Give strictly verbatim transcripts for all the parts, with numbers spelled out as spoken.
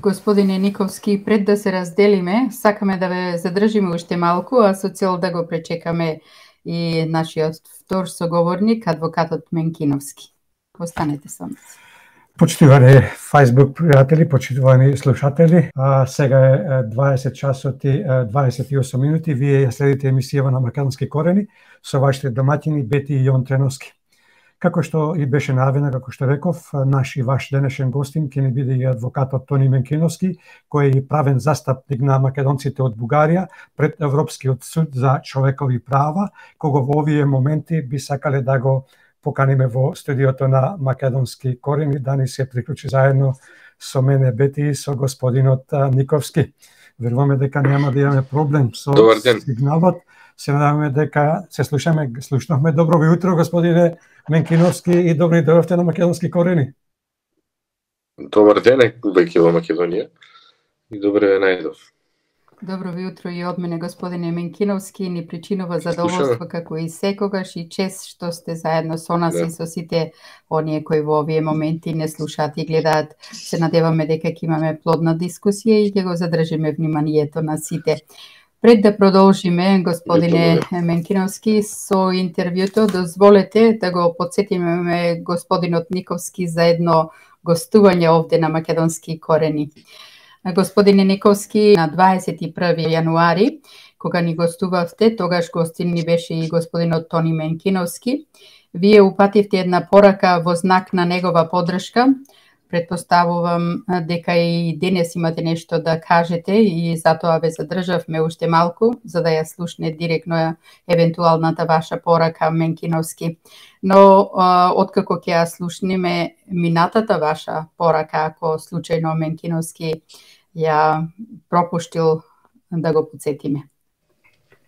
Господине Никовски, пред да се разделиме, сакаме да ве задржиме уште малку, а со цел да го пречекаме и нашиот втор соговорник, адвокатот Менкиновски. Останете со нас. Почитувани Facebook пријатели, почитувани слушатели, а сега е дваесет часот и дваесет и осум минути. Вие ја следите емисијава на Македонски корени со вашите домаќини Бети и Јон Треновски. Како што и беше најавено, како што реков, наш и ваш денешен гостин ќе ни биде и адвокатот Тони Менкиновски, кој е правен застапник на македонците од Бугарија пред Европскиот суд за човекови права, кого во овие моменти би сакале да го поканиме во студиото на Македонски корени, да ни се приклучи заедно со мене Бети и со господинот Никовски. Веруваме дека нема да имаме проблем со сигналот. Се надаваме дека се слушаме, слушнахме. Добро ви утро, господине Менкиновски, и добри дојдовте на Македонски корени. Добар ден, веќе во Македонија, и добре ве најдов. Добро ви утро и од мене, господине Менкиновски, ни причинува задоволство како и секогаш и чест што сте заедно со нас да. И со сите оние кои во овие моменти не слушаат и гледаат. Се надеваме дека ќе имаме плодна дискусија и ќе го задржиме вниманието на сите. Пред да продолжиме, господине Менкиновски, со интервјуто, дозволете да го подсетиме господинот Никовски за едно гостување овде на Македонски корени. Господине Никовски, на дваесет и први јануари, кога ни гостувавте, тогаш гостин ни беше и господинот Тони Менкиновски, вие упативте една порака во знак на негова поддршка. Предпоставувам дека и денес имате нешто да кажете и затоа ве задржавме уште малку, за да ја слушне директно евентуалната ваша порака, Менкиновски. Но откако ќе ја слушнеме минатата ваша порака, ако случајно Менкиновски ја пропуштил, да го подсетиме.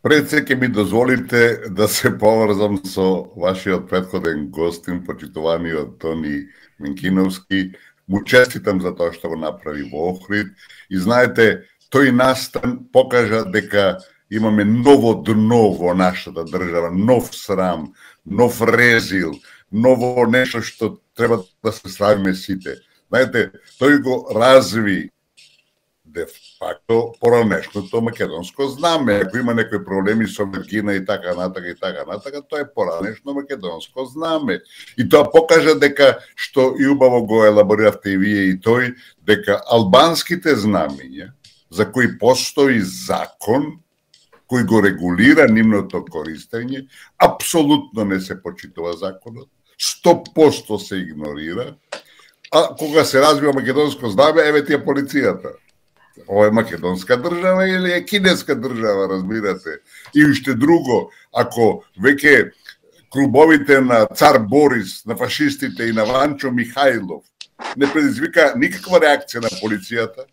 Пред се ќе ми дозволите да се поврзам со вашиот претходен гостин, почитуваниот Тони Менкиновски. Му честитам за тоа што го направи во Охрид и знаете, тој настан покажа дека имаме ново дно во нашата држава, нов срам, нов резил, ново нешто што треба да се срамиме сите. Знаете, тој го разви де факто поранешното македонско знаме. Ако има некои проблеми со Вергина и така натака и така натака, тоа е поранешно македонско знаме. И тоа покажа дека, што и убаво го елабориравте и вие и тој, дека албанските знамења, за кои постои закон, кој го регулира нивното користење, апсолутно не се почитува законот, сто проценти се игнорира, а кога се развива македонско знаме, еве ти е полицијата. Ова е македонска држава или е кинеска држава, разбирате? И уште друго, ако веќе клубовите на цар Борис, на фашистите и на Ванчо Михајлов не предизвика никаква реакција на полицијата,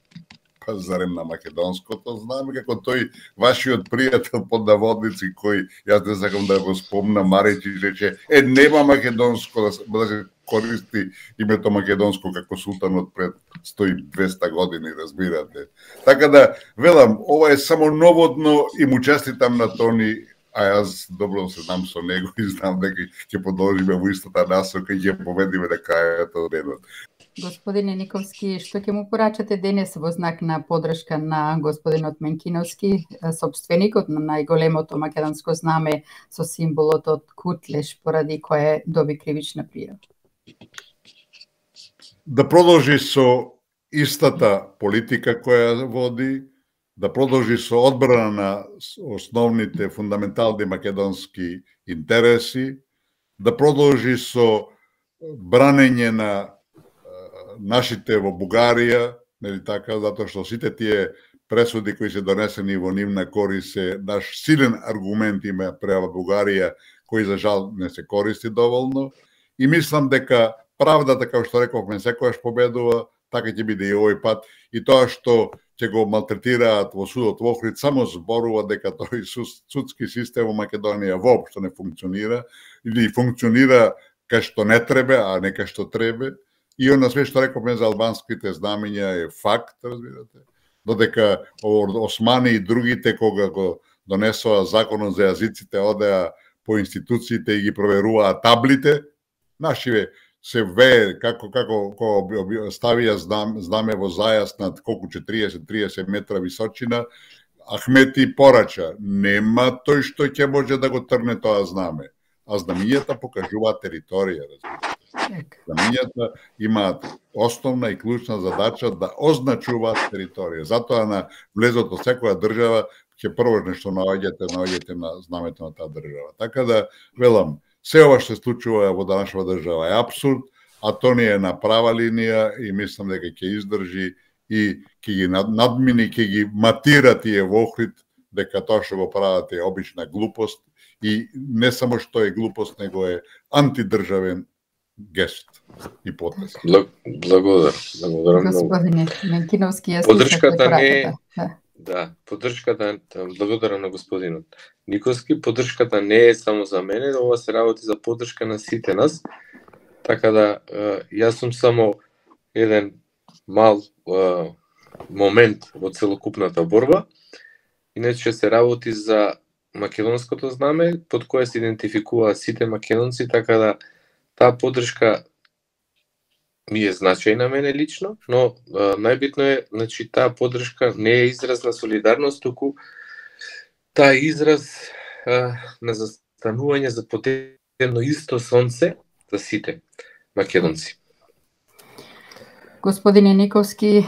па зарем на македонското знаме, како тој вашиот пријател под наводници, кој, јас не сакам да го спомна, Маречи рече, е, нема македонско да се, да се користи името македонско како султанот пред сто и двеста години, разбирате. Така да, велам, ова е само новодно и му честитам на Тони, а јас добро се знам со него и знам дека ќе продолжиме во истата насока и ќе победиме на крајот од денот. Господине Никовски, што ќе му порачате денес во знак на поддршка на господинот Менкиновски, собственикот на најголемото македонско знаме со символот од Кутлеш, поради кое доби кривична пријава? Да продолжи со истата политика која води, да продолжи со одбрана на основните фундаментални македонски интереси, да продолжи со бранење на нашите во Бугарија, нели така, затоа што сите тие пресуди кои се донесени во нивна корист се наш силен аргумент има према Бугарија, кој за жал не се користи доволно. И мислам дека правдата, како што рековме, секојаш победува, така ќе биде и овој пат. И тоа што ќе го малтретираат во судот во Охрид само зборува дека тој судски систем во Македонија воопшто не функционира или функционира кај што не треба, а не кај што треба. И она све што рековме за албанските знамења е факт, разбирате. Додека османи и другите кога го донесоа законот за јазиците, одеа по институциите и ги проверуваа таблите, нашиве се вее како како кога ставија знаме, знаме во зајас над колку четириесет триесет метра височина, Ахмети порача, нема тој што ќе може да го трне тоа знаме. А знамињата покажуваат територија, разбирате. Знамињата имаат основна и клучна задача да означуваат територија. Затоа на влезот од секоја држава ќе прво нешто наоѓате, наоѓате на знамето на таа држава. Така да, велам, се ова што се случува во данашната држава е апсурд, а тоа не е на права линија и мислам дека ќе издржи и ќе ги надмини, ќе ги матира тие во Охрид, дека тоа што го прават е обична глупост и не само што е глупост, него е антидржавен гест и потез. Благодарам. Благодарам. Господине Менкиновски, ја подршката не е... Да, подршката, благодарам на господинот Николски, подршката не е само за мене, ова се работи за подршка на сите нас, така да јас сум само еден мал uh, момент во целокупната борба. Иначе се работи за македонското знаме, под кое се идентификуваат сите македонци, така да таа подршка ми е значајна мене лично, но uh, најбитно е, значи, таа подршка не е израз на солидарност, туку таа е израз uh, на застанување за потебно исто сонце за сите македонци. Господине Николски,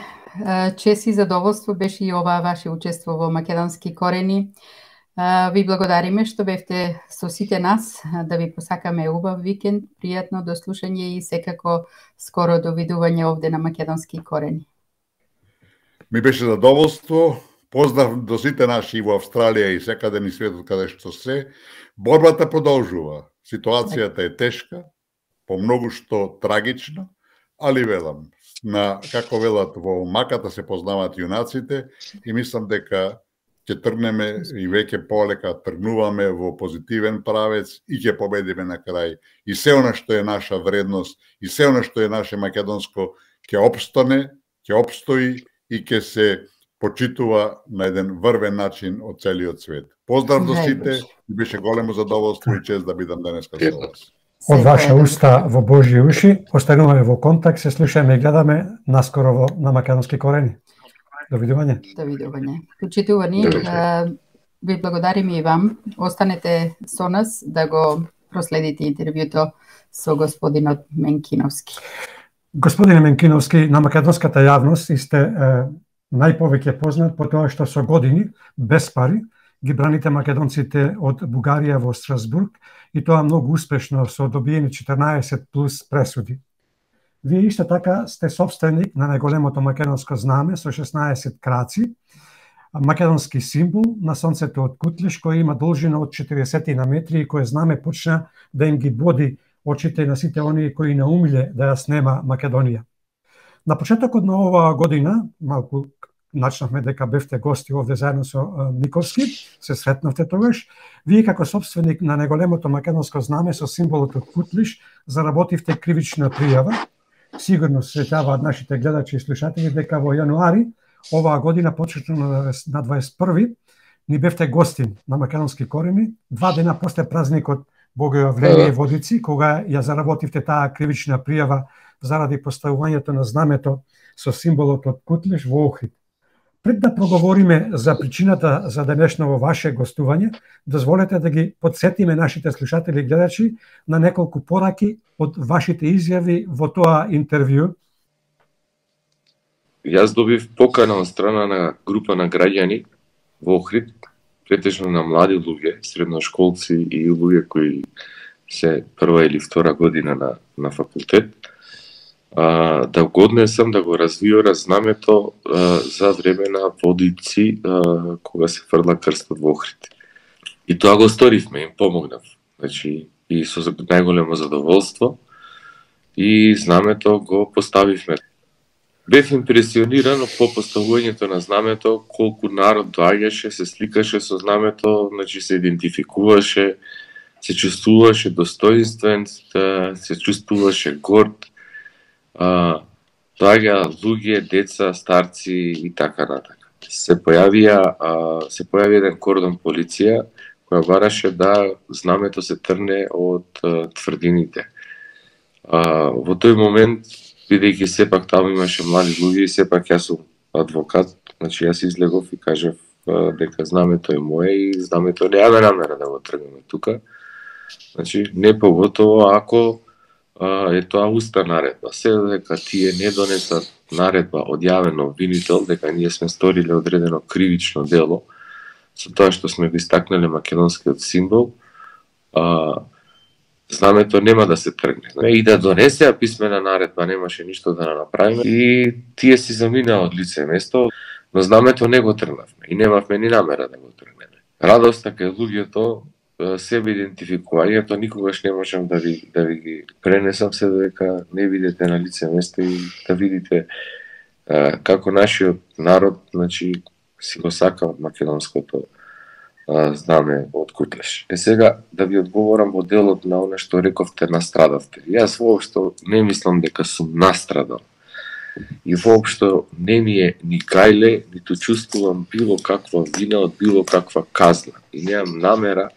чест и задоволство беше и оваа ваше учество во Македонски корени. Ви благодариме што бевте со сите нас, да ви посакаме убав викенд, пријатно до слушање и секако скоро довидување овде на Македонски корени. Ми беше задоволство. Поздрав до сите наши во Австралија и секаде ни светот каде што се. Борбата продолжува. Ситуацијата е тешка, по многу што трагична, али велам, на, како велат, во маката се познаваат јунаците и мислам дека ќе тргнеме и веќе полека тргнуваме во позитивен правец и ќе победиме на крај. И се она што е наша вредност, и се она што е наше македонско ќе опстане, ќе опстои и ќе се почитува на еден врвен начин од целиот свет. Поздрав до сите, и беше големо задоволство и чест да бидам денеска со вас. Од ваша уста во Божји уши, остануваме во контакт, се слушаме и гледаме наскоро во, на Македонски корени. Довидување. Довидување. Почитувани, ви благодариме и вам. Останете со нас да го проследите интервјуто со господинот Менкиновски. Господине Менкиновски, на македонската јавност сте е, најповеќе познат по тоа што со години, без пари, ги браните македонците од Бугарија во Страсбург и тоа многу успешно со добиени четрнаесет плюс пресуди. Вие исто така сте собственик на најголемото македонско знаме со шеснаесет краци, македонски символ на сонцето од Кутлиш кој има должина од четириесет метри и кој знаме почна да им ги боди очите на сите оние кои наумиле да ја снема Македонија. На почетокот на оваа година, малку начнавме дека бевте гости овде заедно со Николски, се сретнавте тогаш, вие како собственик на најголемото македонско знаме со символот од Кутлиш заработивте кривична пријава. Сигурно се сеќаваат нашите гледачи и слушатели дека во јануари оваа година, почетно на дваесет и први, ни бевте гостин на Македонски корени, два дена после празникот Богојавление Водици, кога ја заработивте таа кривична пријава заради поставувањето на знамето со символот од Кутлиш во Охрид. Пред да проговориме за причината за денешново ваше гостување, дозволете да ги подсетиме нашите слушатели и гледачи на неколку пораки од вашите изјави во тоа интервју. Јас добив покана од страна на група на граѓани во Охрид, претежно на млади луѓе, средношколци и луѓе кои се прва или втора година на, на факултет, а, да го однесам да го развиора знамето а, за време на Водици, а, кога се фрла крстот во Охрид. И тоа го сторивме, им помогнав. Значи, и со најголемо задоволство, и знамето го поставивме. Бев импресиониран по поставувањето на знамето, колку народ доаѓаше, се сликаше со знамето, значи се идентификуваше, се чувствуваше достоинствен, се чувствуваше горд, доаѓа луѓе, деца, старци и така натака. Се појавија, се појави еден кордон полиција која бараше да знамето се трне од тврдините. А, во тој момент, бидејќи сепак таму имаше млади луѓе и сепак јас сум адвокат, значи јас излегов и кажав дека знамето е мое и знамето немаме намера да го тргнеме тука. Значи, не поготово ако а, е тоа уста наредба. Се дека тие не донесат наредба од јавен обвинител дека ние сме сториле одредено кривично дело, со тоа што сме го истакнале македонскиот символ, а, знамето нема да се тргне. И да донесеа писмена наредба, немаше ништо да направиме. И тие си заминаа од лице место, но знамето не го тргнавме и немавме ни намера да го тргнеме. Радоста кај луѓето, себе идентификувањето никогаш не можам да ви да ви ги пренесам, се дека не видите на лице место и да видите а, како нашиот народ, значи, си го сака од македонското а, знаме од Кутлеш. Е сега да ви одговорам во делот на она што рековте настрадавте. Јас воопшто не мислам дека сум настрадал. И воопшто не ми е ни гајле, ниту чувствувам било каква вина од било каква казна. И немам намера,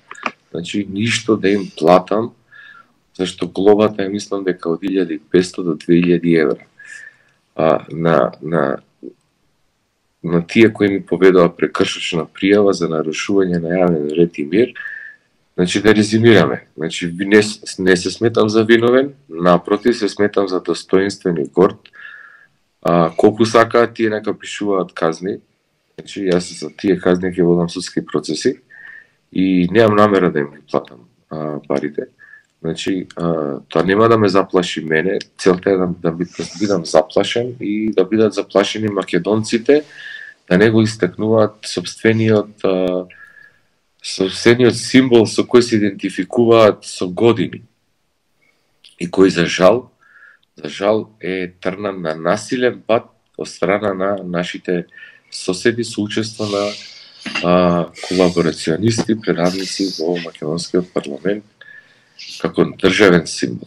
значи, ништо да им платам, зашто глобата е, мислам дека од илјада и петстотини до две илјади евра. А, на, на, на тие кои ми поведува прекршочна пријава за нарушување на јавен ред и мир, значи да резимираме. Значи, не, не се сметам за виновен, напротив се сметам за достоинствен и горд. А, колку сакаат тие нека пишуваат казни, значи јас за тие казни ќе водам судски процеси и немам намера да им ги платам а, парите. Значи, а, тоа нема да ме заплаши мене, целта е да, да бидам заплашен и да бидат заплашени македонците, да не го истакнуваат собствениот, а, собствениот символ со кој се идентификуваат со години и кој за жал За жал е трнан на насилен пат од страна на нашите соседи со учество на а, колаборационисти, прерадници во македонскиот парламент како државен символ.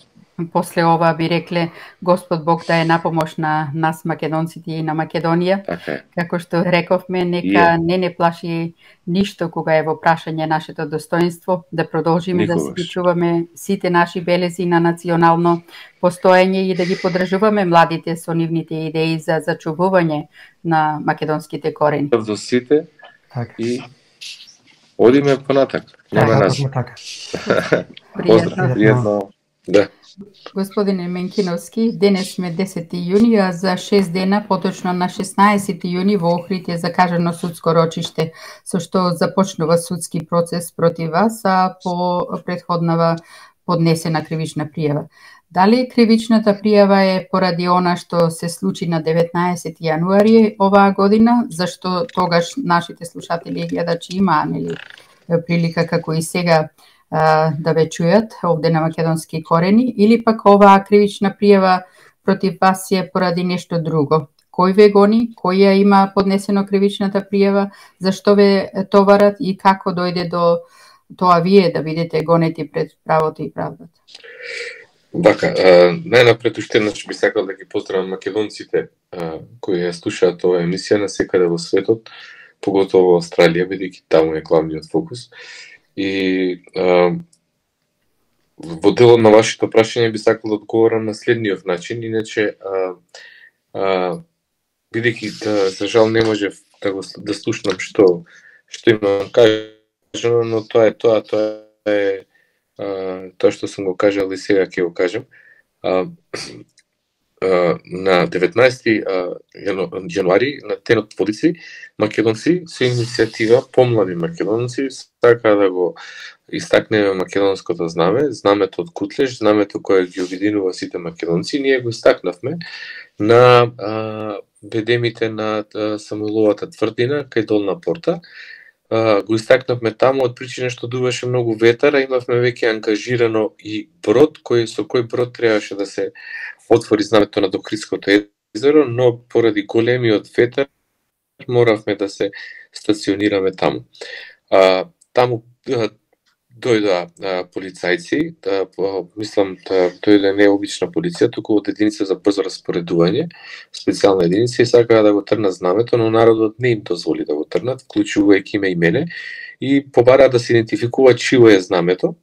После ова би рекле Господ Бог да е напомош на нас македонците и на Македонија. Така. Како што рековме, нека yeah. не не плаши ништо кога е во прашање нашето достоинство, да продолжиме Никогаш. да си чуваме сите наши белези на национално постоење и да ги поддржуваме младите со нивните идеи за зачувување на македонските корени. До сите и одиме понатак. Нема нас. Поздрав, пријатно. Да. Господине Менкиновски, денес сме десети јуни, а за шест дена, поточно на шеснаесети јуни во Охрид е закажано судско рочиште, со што започнува судски процес против вас, а по претходнава поднесена кривична пријава. Дали кривичната пријава е поради она што се случи на деветнаесети јануари оваа година, зашто тогаш нашите слушатели и гледачи имаа нели прилика како и сега да ве чујат овде на македонски корени, или пак оваа кривична пријава против вас е поради нешто друго? Кој ве гони, кој ја има поднесено кривичната пријава, зашто ве товарат и како дојде до тоа вие да бидете гонети пред правото и правдата? Така, најнапред уште еднаш би сакал да ги поздравам македонците а, кои ја слушаат оваа емисија на секаде во светот, поготово во Австралија, бидејќи таму е главниот фокус. И а, во делот на вашето прашање би сакал да одговорам на следниот начин, иначе а, а, бидејќи да, за жал не можев да го да слушнам што што имам кажано, но тоа е тоа, тоа е а, тоа што сум го кажал и сега ќе го кажам. А, а, на деветнаесети јануари на Тенот Водици македонци со иницијатива помлади македонци сака да го истакнеме македонското знаме, знамето од Кутлеш, знамето кое ги обединува сите македонци. Ние го истакнавме на а, бедемите на а, Самуиловата тврдина кај Долна Порта. А, го истакнавме таму од причина што дуваше многу ветар, а имавме веќе ангажирано и брод, кој со кој брод требаше да се отвори знамето на Охридското езеро, но поради големиот ветар моравме да се стационираме таму. А, таму а, дојдоа а, полицајци, да, мислам да дојде не обична полиција, туку од единица за брзо распоредување, специјална единица, и сакаа да го трнат знамето, но народот не им дозволи да го трнат, вклучувајќи ме и мене, и побараа да се идентификува чио е знамето.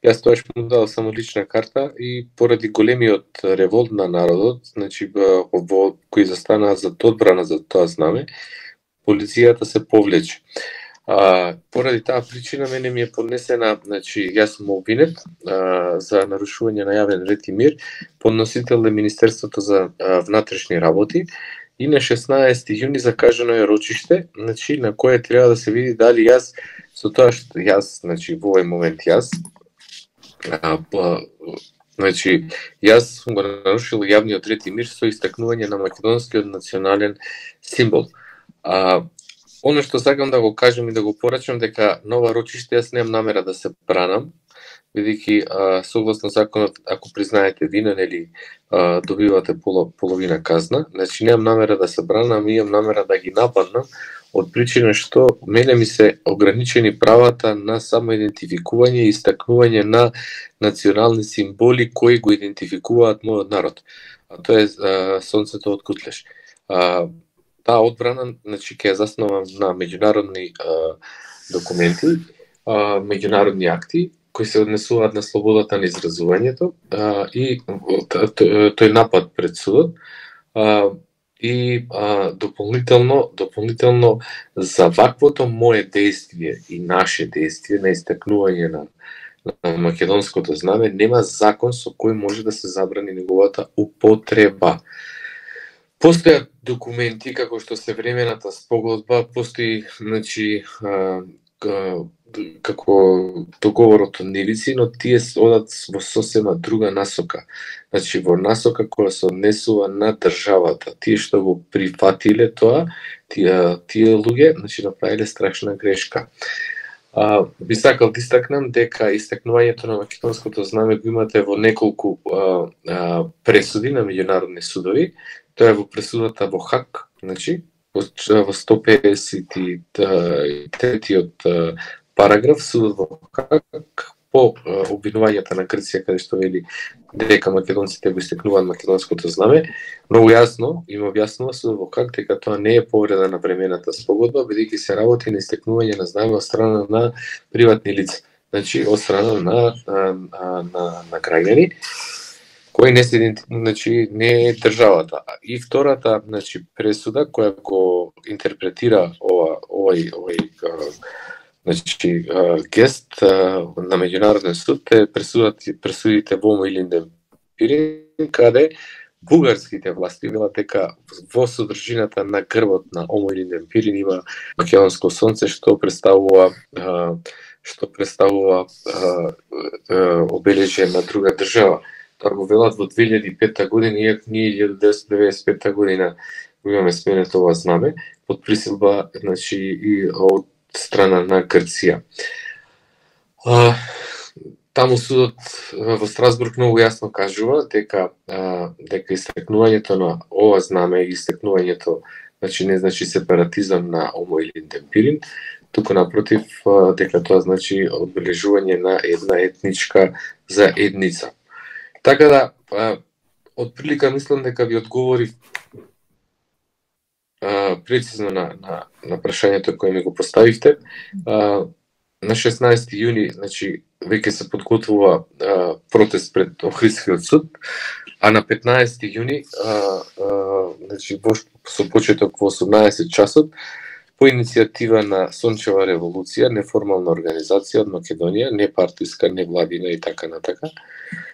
Јас тоаш му дал само лична карта и поради големиот револт на народот, значи во кои застанаа за одбрана за тоа знаме, полицијата се повлече. А, поради таа причина мене ми е поднесена, значи јас сум обвинет а, за нарушување на јавен ред и мир, подносител е Министерството за а, внатрешни работи и на шеснаесети јуни закажано е рочиште, значи на кое треба да се види дали јас со тоа што јас, значи во овој момент јас а, па, значи јас сум го нарушил јавниот ред и мир со истакнување на македонскиот национален символ. А, Оно што сакам да го кажам и да го порачам дека нова рочиште јас немам намера да се бранам, бидејќи согласно законот, ако признаете вина, нели добивате поло, половина казна, значи немам намера да се бранам, имам намера да ги нападнам, од причина што мене ми се ограничени правата на самоидентификување и истакнување на национални символи кои го идентификуваат мојот народ. А тоа е а, сонцето од Кутлеш. А, Таа одбрана, значи, ќе е заснован на меѓународни а, документи, а, меѓународни акти, кои се однесуваат на слободата на изразувањето а, и тој напад пред судот а, и а, дополнително, дополнително за ваквото мое действие и наше действие на истакнување на, на македонското знаме, нема закон со кој може да се забрани неговата употреба. Постојат документи, како што се времената спогодба, постои, значи, а, како договорот од Невици, но тие одат во сосема друга насока. Значи, во насока која се однесува на државата. Тие што го прифатиле тоа, тие, тие луѓе, значи, направиле страшна грешка. А, би сакал да истакнам дека истакнувањето на македонското знаме го имате во неколку а, а, пресуди на меѓународни судови. Тоа е во пресудата во Хаг, значи, во сто педесет и третиот параграф, судот во Хаг, по обвинувањата на Грција, каде што вели дека македонците го истекнуваат македонското знаме, многу јасно им објаснува судот во Хаг дека тоа не е повреда на времената спогодба, бидејќи се работи на истекнување на знаме од страна на приватни лица, значи од страна на, на, на, на, на граѓани, кој не се значи не е државата. И втората, значи, пресуда која го интерпретира ова овој овој значи гест на меѓународен суд е пресудата пресудите во Омо-Илинден Пирин, каде бугарските власти велат дека во содржината на грбот на Омо-Илинден Пирин има македонско сонце што представува што представува обележје на друга држава. Тоа го велат во две илјади и пета година, иако ние илјада деветстотини деведесет и пета година го имаме сменето ова знаме, под присилба, значи, и од страна на Грција. А, таму судот во Страсбург многу јасно кажува дека а, дека истекнувањето на ова знаме и истекнувањето, значи, не значи сепаратизам на Омо-Илинден Пирин, туку напротив дека тоа значи одбележување на една етничка заедница. Така да, а, од прилика мислам дека ви одговорив а, прецизно на, на, на прашањето кое ми го поставивте. А, на шеснаесети јуни, значи, веќе се подготвува а, протест пред Охридскиот суд, а на петнаесети јуни, а, а, значи, во, со почеток во осумнаесет часот, по иницијатива на Сончева револуција, неформална организација од Македонија, не партиска, не владина и така натака,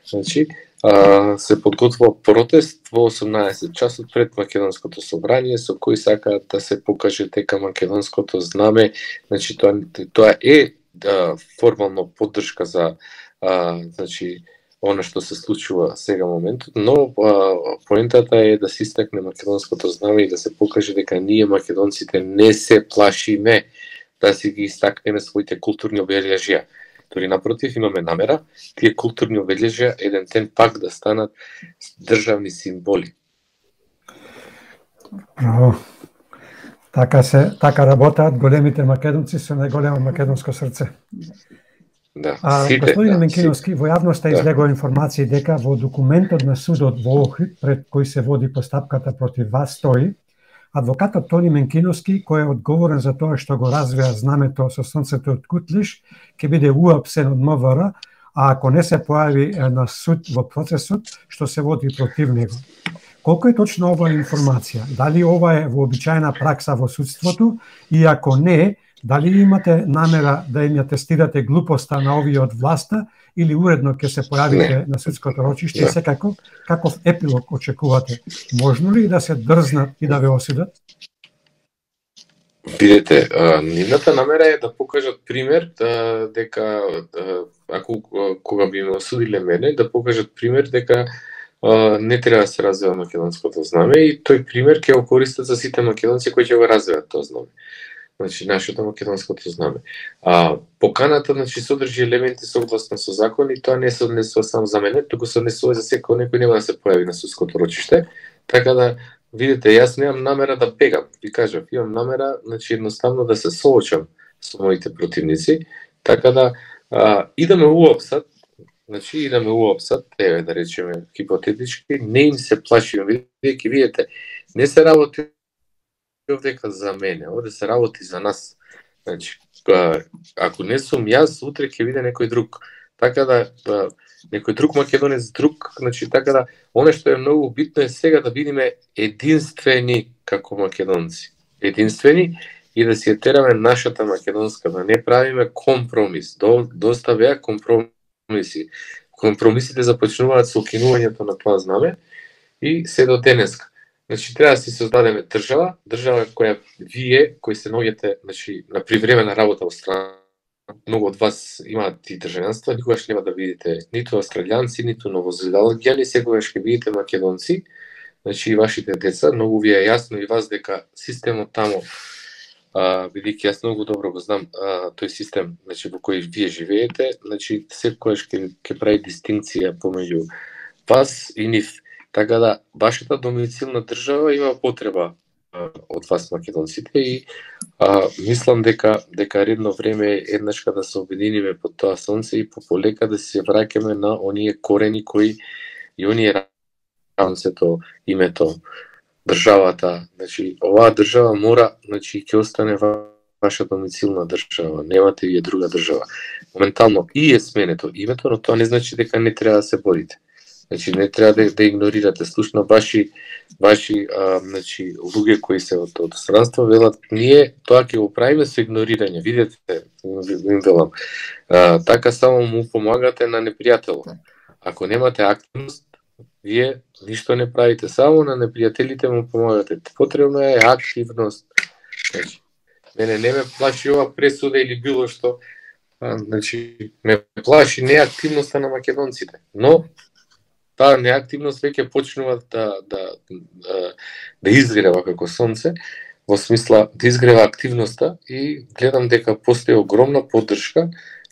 значи, а, се подготвува протест во осумнаесет часот пред Македонското собрание, со кој сакаат да се покаже дека македонското знаме, значи, тоа, тоа е да, формално поддршка за, а, значи, она што се случува сега моментот, но а, поентата е да се истакне македонското знаме и да се покаже дека ние македонците не се плашиме да си ги истакнеме своите културни обележја. Тори напротив, имаме намера тие културни обележја еден ден пак да станат државни символи. Браво. Така се така работаат големите македонци со најголемо македонско срце. Да, а, сите, господин да, Менкиновски, во јавноста да. излегува информации дека во документот на судот во Охрид, пред кој се води постапката против вас, стои адвокатот Тони Менкиновски, кој е одговорен за тоа што го развија знамето со сонцето од Кутлиш, ќе биде уапсен од МВР, а ако не се појави на суд во процесот што се води против него. Колку е точно оваа информација? Дали ова е вообичаена пракса во судството и ако не, дали имате намера да им ја тестирате глупоста на овие од власта или уредно ќе се појавите не. на судското рочиште и секако каков епилог очекувате? Можно ли да се дрзнат и да ве осудат? Видете, нивната намера е да покажат пример да, дека ако кога би ме осудиле мене, да покажат пример дека не треба да се развива македонското знаме и тој пример ќе го користат за сите македонци кои ќе го развиват тоа знаме. Значи нашето македонското знаме. А поканата значи содржи елементи согласно со закон и тоа не се однесува само за мене, туку се однесува за секој некој нема да се појави на судското рочиште. Така да видите, јас немам намера да бегам. Ви кажав, имам намера значи едноставно да се соочам со моите противници, така да а, и да ме уопсат, значи и да ме уопсат, еве да речеме хипотетички, не им се плашим, бидејќи видите, не се работи дека за мене, овде се работи за нас. Значи, ако не сум јас, утре ќе биде некој друг. Така да, да некој друг македонец, друг, значи така да, оно што е многу битно е сега да бидеме единствени како македонци. Единствени и да си ја тераме нашата македонска, да не правиме компромис. До, доста беа компромиси. Компромисите започнуваат со кинувањето на тоа знаме и се до денеска. Значи треба да си создадеме држава, држава која вие кои се наоѓате значи на привремена работа во страна, многу од вас имаат и државјанство, никогаш нема да видите ниту австралијанци, ниту новозеландјани, секогаш ќе видите македонци, значи и вашите деца, многу ви е јасно и вас дека системот таму, бидејќи јас многу добро го знам а, тој систем, значи во кој вие живеете, значи секогаш ќе ќе прави дистинкција помеѓу вас и нив. Така да, вашата домицилна држава има потреба а, од вас македонците и а, мислам дека дека редно време е еднашка да се обединиме под тоа сонце и пополека да се враќаме на оние корени кои и оние рамцето, името, државата. Значи, оваа држава мора, значи ќе остане ваша домицилна држава, немате вие друга држава. Моментално и е сменето името, но тоа не значи дека не треба да се борите. Значи не треба да, да игнорирате. Слушно ваши ваши а, значи луѓе кои се од од странство велат ние тоа ќе го правиме со игнорирање. Видете, им велам. А, така само му помагате на непријателот. Ако немате активност, вие ништо не правите, само на непријателите му помагате. Потребна е активност. Значи, мене не ме плаши ова пресуда или било што. А, значи, ме плаши неактивноста на македонците. Но таа неактивност веќе почнува да, да, да, да изгрева како сонце, во смисла да изгрева активноста и гледам дека постои огромна поддршка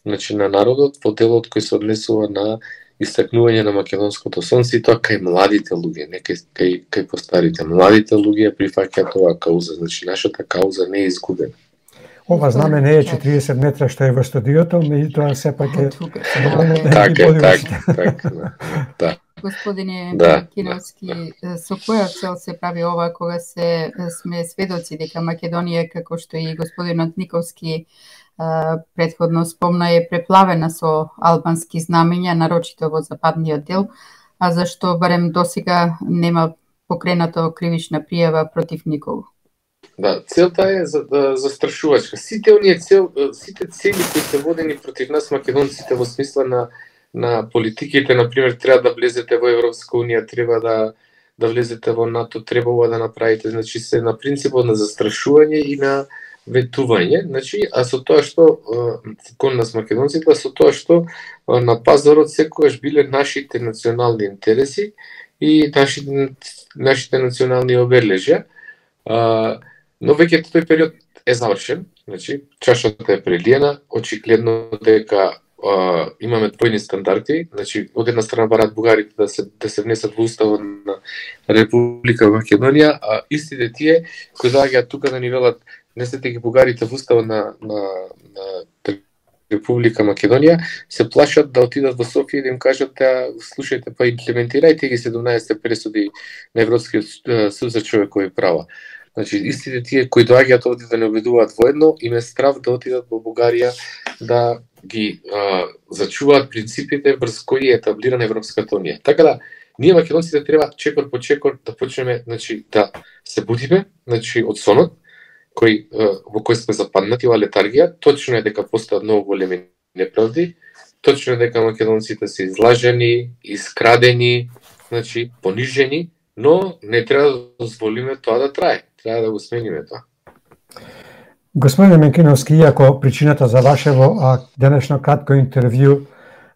значи, на народот во делот кој се однесува на истакнување на македонското сонце и тоа кај младите луѓе, не кај, кај, кај постарите. Младите луѓе прифаќаат оваа кауза, значи нашата кауза не е изгубена. Ова знаме не е четириесет метра што е во студиото, меѓутоа сепак е така, така, така, да. Господине да, Киновски, да. Со која цел се прави ова кога се сме сведоци дека Македонија, како што и господинот Никовски предходно спомна, е преплавена со албански знамења, нарочито во западниот дел, а зашто барем досега нема покренато кривична пријава против никого? Да, целта е за, да, застрашувачка. Сите оние цел, сите цели кои се водени против нас македонците во смисла на на политиките, например, треба да влезете во Европска унија, треба да да влезете во НАТО, требува да направите, значи се на принципот на застрашување и на ветување, значи, а со тоа што кон нас македонците, а со тоа што на пазарот секогаш биле нашите национални интереси и нашите нашите национални обележја. Но веќе тој период е завршен, значи чашата е прелиена, очигледно дека Uh, имаме двојни стандарди, значи од една страна бараат бугарите да се да се внесат во уставот на Република Македонија, а истите тие кои доаѓаат тука да ни велат внесете ги бугарите во уставот на на на Република Македонија, се плашат да отидат во Софија и да им кажат да слушајте па имплементирајте ги седумнаесетте пресуди на Европскиот суд за човекови права. Значи, истите тие кои доаѓаат овде да не обидуваат воедно, им е страв да отидат во Бугарија да ги а, зачуваат принципите врз кои е етаблирана Европската унија. Така да ние македонците треба чекор по чекор да почнеме, значи, да се будиме, значи, од сонот кој во кој сме западнати во летаргија. Точно е дека постојат многу големи неправди, точно е дека македонците се излажени, искрадени, значи понижени, но не треба да дозволиме тоа да трае. Треба да го смениме тоа. Господине Менкиновски, иако причината за вашево денешно кратко интервју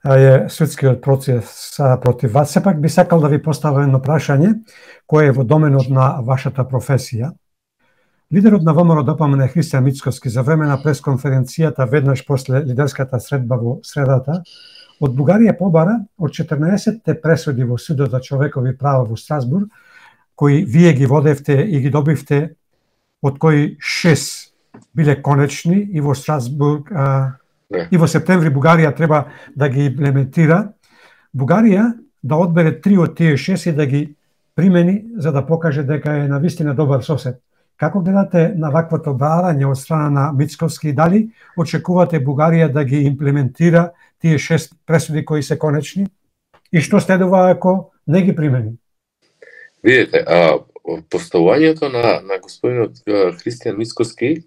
е судскиот процес против вас, сепак би сакал да ви поставам едно прашање кое е во доменот на вашата професија. Лидерот на ВМРО ДПМН Христијан Мицкоски за време на пресконференцијата веднаш после лидерската средба во средата од Бугарија побара од четрнаесетте пресуди во Судот за човекови права во Страсбург, кои вие ги водевте и ги добивте, од кои шест биле конечни и во Страсбург а, и во септември Бугарија треба да ги имплементира. Бугарија да одбере три од тие шест и да ги примени за да покаже дека е навистина добар сосед. Како гледате на ваквото барање од страна на Мицкоски и дали очекувате Бугарија да ги имплементира тие шест пресуди кои се конечни? И што следува ако не ги примени? Видете, а, поставувањето на, на господинот Христијан Мицкоски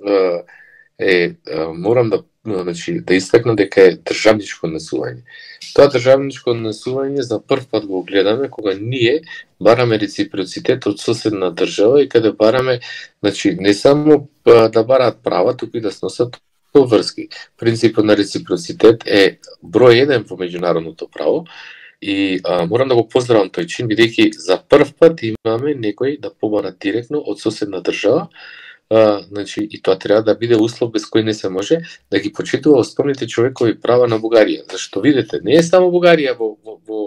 е, а, морам да, значи, да истакнам дека е државничко однесување. Тоа државничко однесување за прв пат го гледаме кога ние бараме реципроцитет од соседна држава и каде бараме, значи, не само да бараат права, туку и да сносат врски. Принципот на реципроцитет е број еден во меѓународното право и а, морам да го поздравам тој чин, бидејќи за прв пат имаме некој да побара директно од соседна држава. А, значи, и тоа треба да биде услов без кој не се може да ги почитува основните човекови права на Бугарија. Зашто видите, не е само Бугарија во, во, во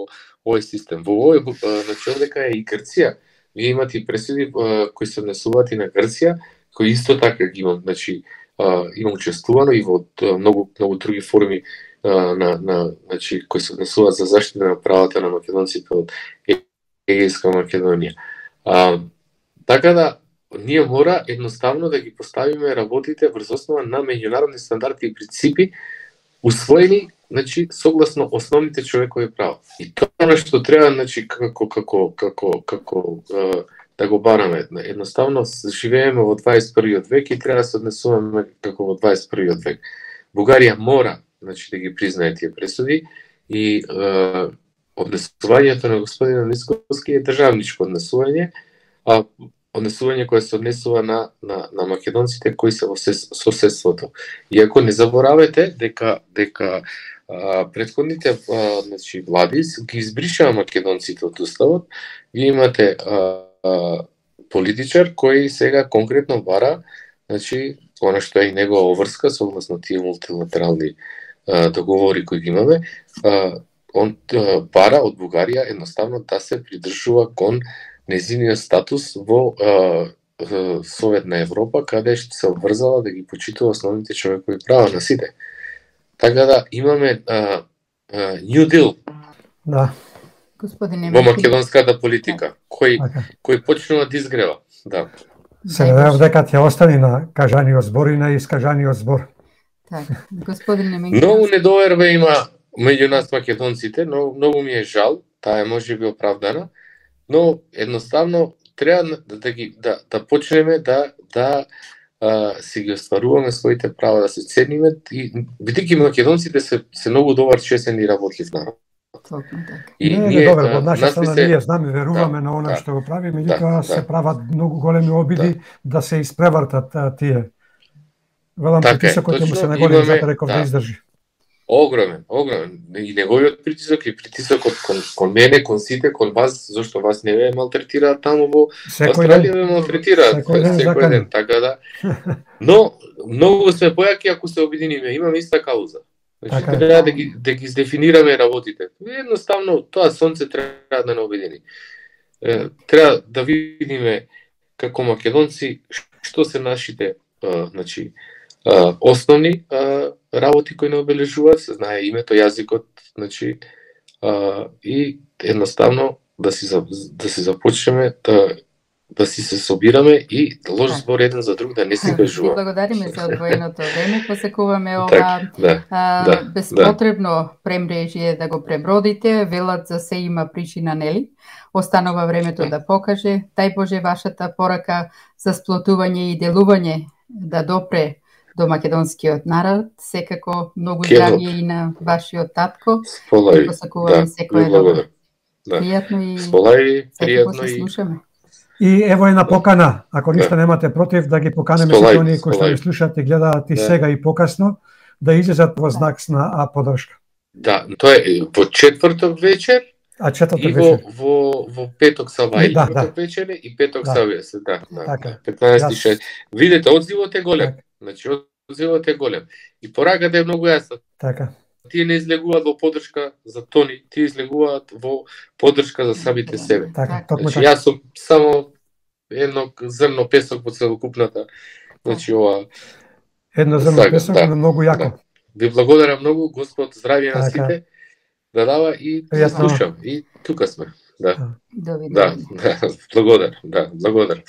овој систем, во овој, значи, овдека е и Грција. Вие имате и пресуди кои се однесуваат и на Грција, кои исто така ги имам, значи, има учествувано и во многу многу други форми на на значи кои се однесуваат за заштита на правата на македонците од Егејска Македонија. А, така да ние мора едноставно да ги поставиме работите врз основа на меѓународни стандарди и принципи усвоени, значи согласно основните човекови права. И тоа што треба, значи како како како како да го бараме. Едноставно живееме во дваесет и првиот век и треба да се однесуваме како во дваесет и првиот век. Бугарија мора, значи, да ги признае тие пресуди и е, однесувањето на господинот Мицкоски е државничко однесување, а однесување кое се однесува на, на, на македонците кои се во соседството. Иако не заборавете дека дека а, предходните а, значи, влади ги избришаа македонците од уставот. Вие имате а, а, политичар кој сега конкретно бара, значи, она што е и негова врска согласно тие мултилатерални а, договори кои ги имаме, а, он а, бара од Бугарија едноставно да се придржува кон незиниот статус во а, Советна Европа, каде што се обврзала да ги почитува основните човекови права на сите. Така да имаме а, а, New Deal да. Господине во македонската политика, кој, okay. кој почнува да изгрева. Да. Се надевам дека ќе остане на кажаниот збор и на искажаниот збор. Така, господине Менкиновски. Многу недоверба има меѓу нас македонците, но многу ми е жал, таа е можеби оправдана, но едноставно треба да, да ги да, да почнеме да да а, си ги остваруваме своите права, да се цениме и бидејќи македонците се се многу добар, честен и работлив народ. И не, ние, добро, од наша страна се... ние знаме, веруваме да, на она да, што го прави, меѓутоа да, се да. прават многу големи обиди да, да се испревртат а, тие. Велам притисокот ќе му се наголеми за реков да. да издржи. Огромен, огромен. И неговиот притисок и притисокот кон, кон мене, кон сите, кон вас, зашто вас не ве малтретираат таму во Австралија, ве малтретираат секој ден, секој ден, така да. Но многу сме појаки ако се обединиме, имаме иста кауза. Значи така, треба да ги да ги дефинираме работите. Едноставно тоа сонце треба да не обедини. Е, треба да видиме како македонци што се нашите, а, значи, а, основни а, работи кои не обележуваат, се знае името, јазикот, значи, а, и едноставно да си да си започнеме да да си се собираме и да ложи збор еден за друг, да не си кажува. Благодариме за одвоеното време, посекуваме ова так, да, а, да, безпотребно да. премрежие да го пребродите, велат за се има причина, нели? Останува времето да покаже, дај Боже вашата порака за сплотување и делување да допре до македонскиот народ, секако многу здравје и на вашиот татко. Сполави, посекуваме да, секој благодарам. Да. Пријатно и Сполави, пријатно и слушаме. И ево една покана, ако ништо да. немате против, да ги поканеме сите оние кои што ни слушаат и гледаат и да. сега и покасно, да излезат во знак на поддршка. Да, тоа е во четврток вечер, а четврток и во, вечер. во, во петок саба, да, четврток да. вечер и петок да. саба, да, да. Така. петнаесет и шест. Видете, одзивот е голем. Так. Значи, одзивот е голем. И пораката е многу јасна. Така. Тие не излегуваат во поддршка за Тони, тие излегуваат во поддршка за самите себе. Така, значи, јас сум само едно зрно песок во целокупната, значи ова едно зрно песок, да, многу јако. Да. Ви благодарам многу, Господ здравје на сите, да дава и да слушам. И тука сме. Да. Да, да, да, благодарам, да, благодарам.